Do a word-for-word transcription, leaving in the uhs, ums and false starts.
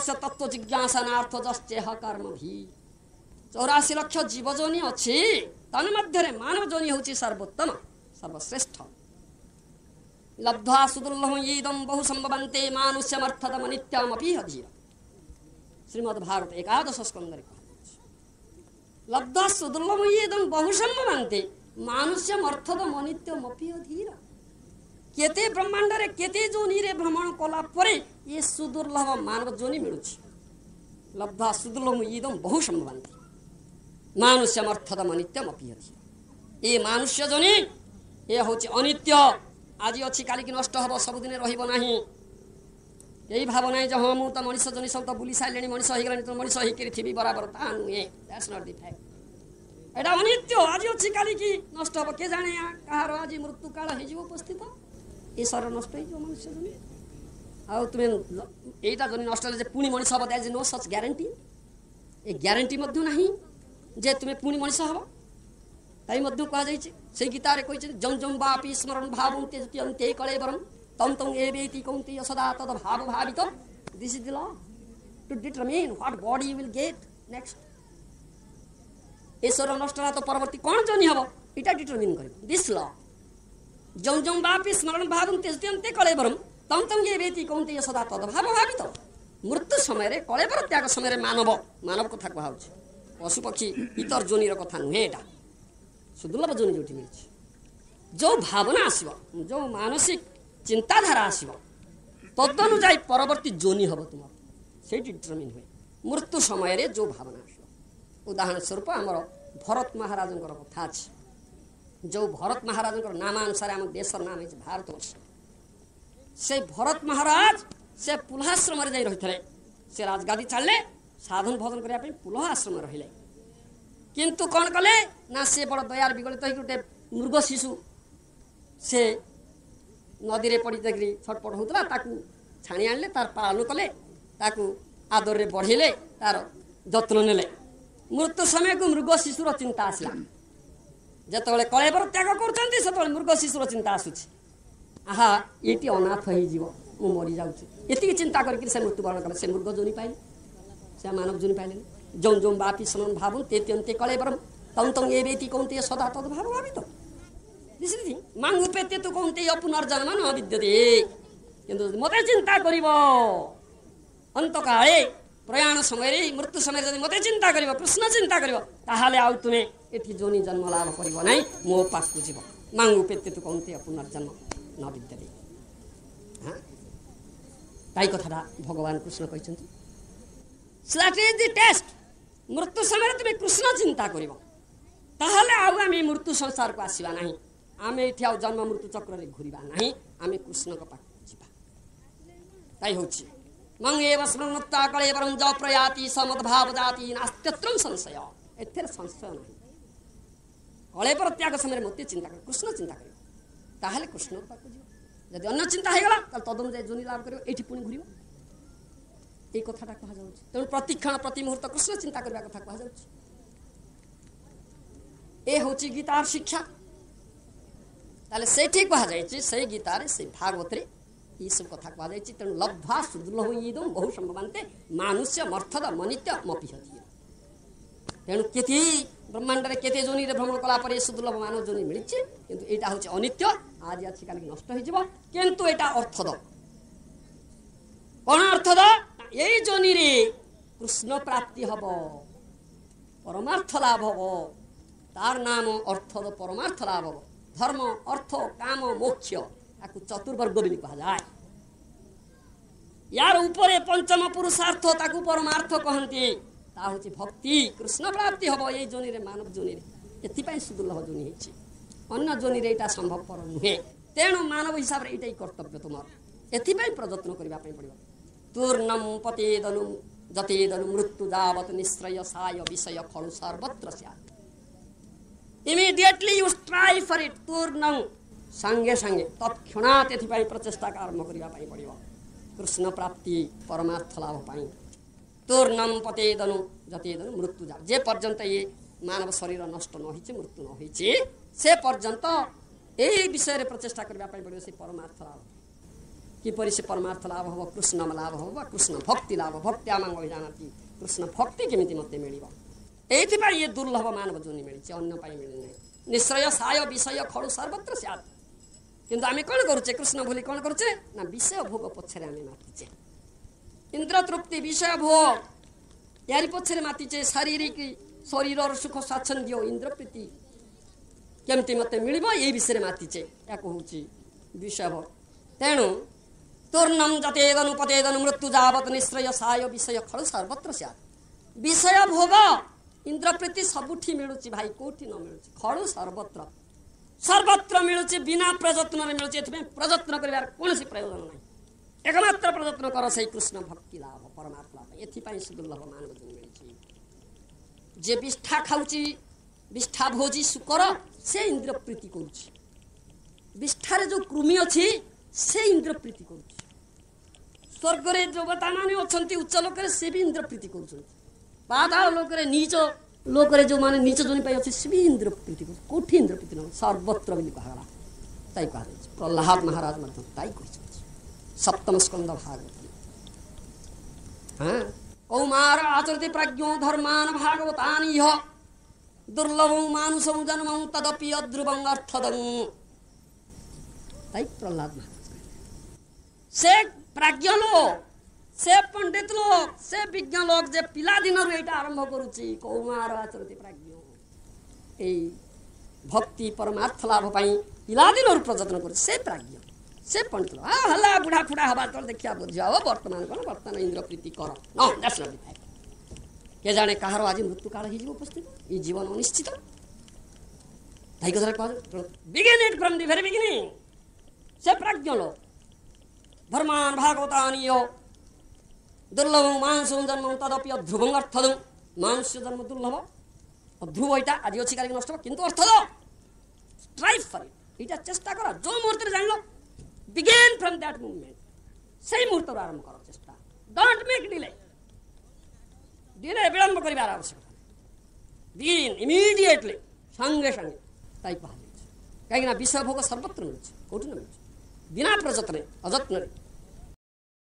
ତସ୍ୟ ତତ୍ତ୍ୱ ଜିଜ୍ଞାସନାର୍ଥ ଯଶ୍ଚେହ କର୍ମ ଭି। ଚଉରାଶୀ ଲକ୍ଷ ଜୀବଜୋନି ଅଛି, ତନ୍ମଧ୍ୟରେ ମାନବ ଯୋନି ହେଉଛି ସର୍ବୋତ୍ତମ, ସର୍ବଶ୍ରେଷ୍ଠ। ଲବ୍ଧ୍ୱା ସୁଦୁର୍ଲଭ ଇଦಂ ବହୁ ସମ୍ଭବନ୍ତେ ମାନୁଷ୍ୟମର୍ଥଦମ ନିତ୍ୟମପି ଧୀର। ଶ୍ରୀମଦ୍ ଭାଗବତ ଏକାଦଶ ସ୍କନ୍ଧରେ କୁହାଯାଇଛି, ଲବ୍ଧ୍ୱା ସୁଦୁର୍ଲଭ ଇଦಂ ବହୁ ସମ୍ଭବନ୍ତେ ମାନୁଷ୍ୟମର୍ଥଦମ ଅନିତ୍ୟମପି ଧୀର। କେତେ ବ୍ରହ୍ମାଣ୍ଡରେ କେତେ ଯୋନିରେ ଭ୍ରମଣ କଲା ପରେ ଏ ସୁଦୁର୍ଲଭ ମାନବ ଯୋନି ମିଳୁଛି। ଲବ୍ଧ୍ୱା ସୁଦୁର୍ଲଭ ଇଦಂ ବହୁ ସମ୍ଭବନ୍ତେ ମାନୁଷ୍ୟମର୍ଥଦମ ଅନିତ୍ୟମପି ଧୀର। ଏ ମାନୁଷ୍ୟ ଯୋନି ଏ ହେଉଛି ଅନିତ୍ୟ, ଆଜି ଅଛି କାଲିକି ନଷ୍ଟ ହେବ, ସବୁଦିନେ ରହିବ ନାହିଁ। ଏଇ ଭାବ ନାହିଁ ଯେ ହଁ ମୁଁ ତ ମଣିଷ ଜନି ସବୁ ତ ବୁଲି ସାରିଲେଣି, ମଣିଷ ହେଇଗଲାଣି, ତ ମଣିଷ ହେଇକିରି ଥିବି ବରାବର, ତା ନୁହେଁ। That's not the fact. ଏଇଟା ଅନିତ୍ୟ, ଆଜି ଅଛି କାଲିକି ନଷ୍ଟ ହେବ। କିଏ ଜାଣେ କାହାର ଆଜି ମୃତ୍ୟୁ କାଳ ହେଇଯିବ ଉପସ୍ଥିତ, ଏ ଶରୀର ନଷ୍ଟ ହେଇଯିବ ମନୁଷ୍ୟ ଜନି। ଆଉ ତୁମେ ଏଇଟା ଜନି ନଷ୍ଟ ହେଲେ ଯେ ପୁଣି ମଣିଷ ହେବ, that is no such guarantee. A guarantee ମଧ୍ୟ ନାହିଁ ଯେ ତୁମେ ପୁଣି ମଣିଷ ହେବ। ତାଇ ମଧ୍ୟ କୁହାଯାଇଛି ସେଇ ଗୀତାରେ କହିଛନ୍ତି, ଯಂ ଯಂ ବାପି ସ୍ମରଣ ଭାବଂ ତ୍ୟଜନ୍ତି କଳେବରಂ ତಂ ତଂ ଏବେତି କୌନ୍ତେୟ ସଦା ତଦ ଭାବ ଭାବିତ। This is the law to determine what body you will get next. ଏ ଶରୀର ନଷ୍ଟ ହେଲା ତ ପରବର୍ତ୍ତୀ କ'ଣ ଜନି ହେବ ଏଇଟା ଡିଟରମିନ୍ କରିବ this ଲ। ଯಂ ଯಂ ବାପି ସ୍ମରଣ ଭାବଂ ତ୍ୟଜନ୍ତି କଳେବରಂ ତಂ ତଂ ଏବେତି କୌନ୍ତେୟ ସଦା ତଦ ଭାବ ଭାବିତ। ମୃତ୍ୟୁ ସମୟରେ, କଳେବର ତ୍ୟାଗ ସମୟରେ ମାନବ, ମାନବ କଥା କୁହାହେଉଛି, ପଶୁପକ୍ଷୀ ଇତର ଯୋନିର କଥା ନୁହେଁ। ଏଇଟା ସୁଦୁର୍ଲଭ ଯୋନି ଯେଉଁଠି ମିଳିଛି, ଯେଉଁ ଭାବନା ଆସିବ, ଯେଉଁ ମାନସିକ ଚିନ୍ତାଧାରା ଆସିବ, ତଦନୁଯାୟୀ ପରବର୍ତ୍ତୀ ଯୋନି ହେବ ତୁମର, ସେଇଠି ଡିଟରମିନ୍ ହୁଏ ମୃତ୍ୟୁ ସମୟରେ ଯେଉଁ ଭାବନା ଆସିବ। ଉଦାହରଣ ସ୍ୱରୂପ ଆମର ଭରତ ମହାରାଜଙ୍କର କଥା ଅଛି, ଯେଉଁ ଭରତ ମହାରାଜଙ୍କର ନାମାନୁସାରେ ଆମ ଦେଶର ନାମ ହେଇଛି ଭାରତବର୍ଷ। ସେ ଭରତ ମହାରାଜ ସେ ପୁଲହାଶ୍ରମରେ ଯାଇ ରହିଥିଲେ। ସେ ରାଜଗାଦି ଛାଡ଼ିଲେ, ସାଧନ ଭଜନ କରିବା ପାଇଁ ପୁଲହ ଆଶ୍ରମରେ ରହିଲେ। କିନ୍ତୁ କ'ଣ କଲେ ନା ସେ ବଡ଼ ଦୟାର ବିଗଳିତ ହେଇକି ଗୋଟେ ମୃଗ ଶିଶୁ ସେ ନଦୀରେ ପଡ଼ି ଯାଇକରି ଛଟପଟ ହେଉଥିଲା, ତାକୁ ଛାଣି ଆଣିଲେ, ତାର ପାଳନ କଲେ, ତାକୁ ଆଦରରେ ବଢ଼େଇଲେ, ତାର ଯତ୍ନ ନେଲେ। ମୃତ୍ୟୁ ସମୟକୁ ମୃଗ ଶିଶୁର ଚିନ୍ତା ଆସିଲା। ଯେତେବେଳେ କଳେବର ତ୍ୟାଗ କରୁଛନ୍ତି ସେତେବେଳେ ମୃଗ ଶିଶୁର ଚିନ୍ତା ଆସୁଛି, ଆହା ଏଇଠି ଅନାଥ ହେଇଯିବ, ମୁଁ ମରିଯାଉଛି, ଏତିକି ଚିନ୍ତା କରିକି ସେ ମୃତ୍ୟୁବରଣ କଲେ। ସେ ମୃଗ ଯୋନି ପାଇଲେ, ସେ ମାନବ ଯୋନି ପାଇଲେନି। ଯୌ ଯୌ ବାପି ସ୍ମରଣ ଭାବ ତେ ତ୍ୟନ୍ତେ କଳେବରಂ ତଂ ତଂ ଏବେତି କୌନ୍ତେୟ ସଦା ତଦ ଭାବ ଭାବିତ। ମାଂ ଉପେତ୍ୟ ତୁ କୌନ୍ତେୟ ପୁନର୍ଜନ୍ମ ନ ବିଦ୍ୟତେ। କିନ୍ତୁ ମୋତେ ଚିନ୍ତା କରିବ ଅନ୍ତକାଳେ, ପ୍ରୟାଣ ସମୟରେ, ମୃତ୍ୟୁ ସମୟରେ ଯଦି ମୋତେ ଚିନ୍ତା କରିବ, କୃଷ୍ଣ ଚିନ୍ତା କରିବ, ତାହେଲେ ଆଉ ତୁମେ ଏଠି ଯୋନି ଜନ୍ମ ଲାଭ କରିବ ନାହିଁ, ମୋ ପାଖକୁ ଯିବ। ମାଂ ଉପେତ୍ୟ ତୁ କୌନ୍ତେୟ ପୁନର୍ଜନ୍ମ ନ ବିଦ୍ୟତେ। ହଁ, ତାଇ କଥାଟା ଭଗବାନ କୃଷ୍ଣ କହିଛନ୍ତି। That is the test. ମୃତ୍ୟୁ ସମୟରେ ତୁମେ କୃଷ୍ଣ ଚିନ୍ତା କରିବ, ତାହେଲେ ଆଉ ଆମେ ମୃତ୍ୟୁ ସଂସାରକୁ ଆସିବା ନାହିଁ, ଆମେ ଏଠି ଆଉ ଜନ୍ମ ମୃତ୍ୟୁ ଚକ୍ରରେ ଘୁରିବା ନାହିଁ, ଆମେ କୃଷ୍ଣଙ୍କ ପାଖକୁ ଯିବା। ତାଇ ହେଉଛି ମଂ ଏବ ସ୍ମୃତ୍ୱା କଳେବରଂ ଯ ପ୍ରୟାତି ସମଦ୍ଭାବ ଜାତି ନାସ୍ତ୍ୟତ୍ରଂ ସଂଶୟ। ଏଥିରେ ସଂଶୟ ନାହିଁ। କଳେବର ତ୍ୟାଗ ସମୟରେ ମୋତେ ଚିନ୍ତା କରିବ, କୃଷ୍ଣ ଚିନ୍ତା କରିବ, ତାହେଲେ କୃଷ୍ଣଙ୍କ ପାଖକୁ ଯିବ। ଯଦି ଅନ୍ୟ ଚିନ୍ତା ହେଇଗଲା ତାହେଲେ ତଦନୁଯାୟୀ ଯୋନି ଲାଭ କରିବ, ଏଇଠି ପୁଣି ଘୁରିବ। ଏଇ କଥାଟା କୁହାଯାଉଛି। ତେଣୁ ପ୍ରତିକ୍ଷଣ ପ୍ରତି ମୁହୂର୍ତ୍ତ କୃଷ୍ଣ ଚିନ୍ତା କରିବା କଥା କୁହାଯାଉଛି। ଏ ହେଉଛି ଗୀତାର ଶିକ୍ଷା। ତାହେଲେ ସେଇଠି କୁହାଯାଇଛି, ସେଇ ଗୀତାରେ, ସେଇ ଭାଗବତରେ ଏଇସବୁ କଥା କୁହାଯାଇଛି। ତେଣୁ ଲବ୍ଧ୍ୱା ସୁଦୁର୍ଲଭ ଇଦಂ ବହୁ ସମ୍ଭବାନ୍ତେ ମାନୁଷ୍ୟ ମର୍ଥଦ ମନିତ୍ୟ ମପିହତି। ତେଣୁ କେତେ ବ୍ରହ୍ମାଣ୍ଡରେ କେତେ ଯୋନିରେ ଭ୍ରମଣ କଲା ପରେ ସୁଦୁର୍ଲଭ ମାନବ ଯୋନି ମିଳିଛି, କିନ୍ତୁ ଏଇଟା ହେଉଛି ଅନିତ୍ୟ, ଆଜି ଅଛି କାଲିକି ନଷ୍ଟ ହେଇଯିବ। କିନ୍ତୁ ଏଇଟା ଅର୍ଥଦ। କ'ଣ ଅର୍ଥଦ? ଏଇ ଯୋନିରେ କୃଷ୍ଣ ପ୍ରାପ୍ତି ହବ, ପରମାର୍ଥ ଲାଭ ହବ। ତାର ନାମ ଅର୍ଥଦ, ପରମାର୍ଥ ଲାଭ ହବ। ଧର୍ମ, ଅର୍ଥ, କାମ, ମୋକ୍ଷ, ତାକୁ ଚତୁର୍ବର୍ଗ ବୋଲି କୁହାଯାଏ। ୟାର ଉପରେ ପଞ୍ଚମ ପୁରୁଷାର୍ଥ, ତାକୁ ପରମାର୍ଥ କହନ୍ତି। ତା ହେଉଛି ଭକ୍ତି, କୃଷ୍ଣ ପ୍ରାପ୍ତି ହବ ଏଇ ଯୋନିରେ, ମାନବ ଯୋନିରେ। ଏଥିପାଇଁ ସୁଦୁର୍ଲଭ ଯୋନି ହେଇଛି, ଅନ୍ୟ ଯୋନିରେ ଏଇଟା ସମ୍ଭବପର ନୁହେଁ। ତେଣୁ ମାନବ ହିସାବରେ ଏଇଟା ହିଁ କର୍ତ୍ତବ୍ୟ ତୁମର, ଏଥିପାଇଁ ପ୍ରଯତ୍ନ କରିବା ପାଇଁ ପଡ଼ିବ। ତୂର୍ଣ୍ଣಂ ପତେଦନୁ ଯତେଦନୁ ମୃତ୍ୟୁ ଯାବତ ନିଶ୍ରୟ ସାୟ ବିଷୟ ଖଳୁ ସର୍ବତ୍ର ସ୍ୟାତ୍। Immediately you strive for it. ତୂର୍ଣ୍ଣଂ ସାଙ୍ଗେ ସାଙ୍ଗେ ତତ୍କ୍ଷଣାତ୍ ଏଥିପାଇଁ ପ୍ରଚେଷ୍ଟା ଆରମ୍ଭ କରିବା ପାଇଁ ପଡ଼ିବ, କୃଷ୍ଣ ପ୍ରାପ୍ତି ପରମାର୍ଥ ଲାଭ ପାଇଁ। ତୂର୍ଣ୍ଣಂ ପତେଦନୁ ଯତେଦନୁ ମୃତ୍ୟୁ ଯାବତ, ଯେ ପର୍ଯ୍ୟନ୍ତ ଇଏ ମାନବ ଶରୀର ନଷ୍ଟ ନ ହେଇଛି, ମୃତ୍ୟୁ ନ ହେଇଛି, ସେ ପର୍ଯ୍ୟନ୍ତ ଏଇ ବିଷୟରେ ପ୍ରଚେଷ୍ଟା କରିବା ପାଇଁ ପଡ଼ିବ, ସେ ପରମାର୍ଥ ଲାଭ। କିପରି ସେ ପରମାର୍ଥ ଲାଭ ହେବ, କୃଷ୍ଣ ଲାଭ ହେବ ବା କୃଷ୍ଣ ଭକ୍ତି ଲାଭ, ଭକ୍ତି ଆମାଙ୍ଗ ଜାଣନ୍ତି, କୃଷ୍ଣ ଭକ୍ତି କେମିତି ମୋତେ ମିଳିବ। ଏଇଥିପାଇଁ ଏ ଦୁର୍ଲଭ ମାନବ ଯୋନି ମିଳିଛି, ଅନ୍ୟ ପାଇଁ ମିଳିନାହିଁ। ନିଶ୍ଚୟ ସାୟ ବିଷୟ ଖଡ଼ୁ ସର୍ବତ୍ର ସ୍ୟାତ୍। କିନ୍ତୁ ଆମେ କ'ଣ କରୁଛେ? କୃଷ୍ଣ ଭୁଲି କ'ଣ କରୁଛେ ନା ବିଷୟ ଭୋଗ ପଛରେ ଆମେ ମାତିଛେ। ଇନ୍ଦ୍ର ତୃପ୍ତି, ବିଷୟ ଭୋଗ, ୟାରି ପଛରେ ମାତିଛେ। ଶାରୀରିକ ଶରୀରର ସୁଖ ସ୍ୱାଚ୍ଛନ୍ଦ୍ୟ, ଇନ୍ଦ୍ରପ୍ରୀତି କେମିତି ମୋତେ ମିଳିବ, ଏଇ ବିଷୟରେ ମାତିଛେ। ୟାକୁ ହେଉଛି ବିଷୟ ଭୋଗ। ତେଣୁ ତୂର୍ଣ୍ଣମ ଯତେଦନୁ ପତେଦନୁ ମୃତ୍ୟୁ ଯାବତ ନିଶ୍ରୟ ସାୟ ବିଷୟ ଖଳୁ ସର୍ବତ୍ର ସ୍ୟାତ୍। ବିଷୟ ଭୋଗ, ଇନ୍ଦ୍ରପ୍ରୀତି ସବୁଠି ମିଳୁଛି ଭାଇ, କୋଉଠି ନ ମିଳୁଛି? ଖଳୁ ସର୍ବତ୍ର, ସର୍ବତ୍ର ମିଳୁଛି, ବିନା ପ୍ରଯତ୍ନରେ ମିଳୁଛି। ଏଥିପାଇଁ ପ୍ରଯତ୍ନ କରିବାର କୌଣସି ପ୍ରୟୋଜନ ନାହିଁ। ଏକମାତ୍ର ପ୍ରଯତ୍ନ କର ସେଇ କୃଷ୍ଣ ଭକ୍ତି ଲାଭ, ପରମାତ୍ମା ଲାଭ। ଏଥିପାଇଁ ସୁଦୁର୍ଲଭ ମାନବ ମିଳିଛି। ଯେ ବିଷ୍ଠା ଖାଉଛି, ବିଷ୍ଠା ଭୋଜି ଶୁକର, ସେ ଇନ୍ଦ୍ରପ୍ରୀତି କରୁଛି। ବିଷ୍ଠାରେ ଯୋଉ କୃମି ଅଛି, ସେ ଇନ୍ଦ୍ରପ୍ରୀତି କରୁଛି। ସ୍ୱର୍ଗରେ ଦେବତାମାନେ ଅଛନ୍ତି ଉଚ୍ଚ ଲୋକରେ, ସେ ବି ଇନ୍ଦ୍ରପ୍ରୀତି କରୁଛନ୍ତି। ପାତାଳ ଲୋକରେ, ନିଚ ଲୋକରେ ଯେଉଁମାନେ ନିଚ ଜନି ପାଇଁ ଅଛି, ସେ ବି ଇନ୍ଦ୍ରପ୍ରୀତି କରୁଛି। କୋଉଠି ଇନ୍ଦ୍ରପ୍ରୀତି ନୁହଁ, ସର୍ବତ୍ର ବୋଲି କୁହାଗଲା। ତାଇ କୁହାଯାଇଛି, ପ୍ରହ୍ଲାଦ ମହାରାଜ ମଧ୍ୟ ତାଇ କହିଛନ୍ତି ସପ୍ତମ ସ୍କନ୍ଦ ଭାଗବତ। ହଁ, କୌମାର ଆଚରତି ପ୍ରାଜ୍ଞ ଧର୍ମାନ ଭାଗବତାନି ଇହ ଦୁର୍ଲଭ ମାନୁଷଂ ଜନ୍ମଂ ତଦପି ଅଧ୍ରୁବଂ ଅର୍ଥଦଂ। ତାଇ ପ୍ରହ୍ଲାଦ ମହାରାଜ ସେ ପ୍ରାଜ୍ଞ ଲୋକ, ସେ ପଣ୍ଡିତ ଲୋକ, ସେ ବିଜ୍ଞ ଲୋକ, ଯେ ପିଲାଦିନରୁ ଏଇଟା ଆରମ୍ଭ କରୁଛି। କୌମାର ଆଚରତି ପ୍ରାଜ୍ଞ, ଏଇ ଭକ୍ତି ପରମାର୍ଥ ଲାଭ ପାଇଁ ପିଲାଦିନରୁ ପ୍ରଯତ୍ନ କରୁଛି, ସେ ପ୍ରାଜ୍ଞ, ସେ ପଣ୍ଡିତ ଲୋକ। ହେଲା ବୁଢ଼ା ଫୁଡ଼ା ହବା ତଳେ ଦେଖିବା ବୁଝିବା ହବ, ବର୍ତ୍ତମାନ କ'ଣ, ବର୍ତ୍ତମାନ ଇନ୍ଦ୍ରପ୍ରୀତି କର। ନ that's not the. କେ ଜାଣେ କାହାର ଆଜି ମୃତ୍ୟୁ କାଳ ହେଇଯିବ ଉପସ୍ଥିତ। ଏଇ ଜୀବନ ଅନିଶ୍ଚିତ। ତାଇ କଥାରେ କୁହାଯାଏ, begin it from the very beginning. ସେ ପ୍ରାଜ୍ଞ ଲୋକ। ଧର୍ମାନ ଭାଗବତାନୀୟ ଦୁର୍ଲଭ ମାଂସ ଜନ୍ମ ତଦପି ଅଧ୍ରୁବଂ ଅର୍ଥଦଂ। ମାଂସ ଜନ୍ମ ଦୁର୍ଲଭ, ଅଧ୍ରୁବ, ଏଇଟା ଆଜି ଅଛି କାଲିକି ନଷ୍ଟ ହବ, କିନ୍ତୁ ଅର୍ଥଦ। ଷ୍ଟ୍ରାଇଭ୍ ଫର୍ ଇଟ୍, ଏଇଟା ଚେଷ୍ଟା କର। ଯୋଉ ମୁହୂର୍ତ୍ତରେ ଜାଣିଲ, ବିଗିନ୍ ଫ୍ରମ୍ that movement, ସେଇ ମୁହୂର୍ତ୍ତରୁ ଆରମ୍ଭ କର ଚେଷ୍ଟା। Don't make delay, delay ବିଳମ୍ବ କରିବାର ଆବଶ୍ୟକତା। ବିଗିନ୍ ଇମିଡିଏଟଲି, ସଙ୍ଗେ ସଙ୍ଗେ। ତାଇ କୁହାଯାଇଛି, କାହିଁକିନା ବିଷୟ ଭୋଗ ସର୍ବତ୍ର ମିଳୁଛି, କୋଉଠି ନ ମିଳୁଛି, ବିନା ପ୍ରଯତ୍ନରେ, ଅଯତ୍ନରେ।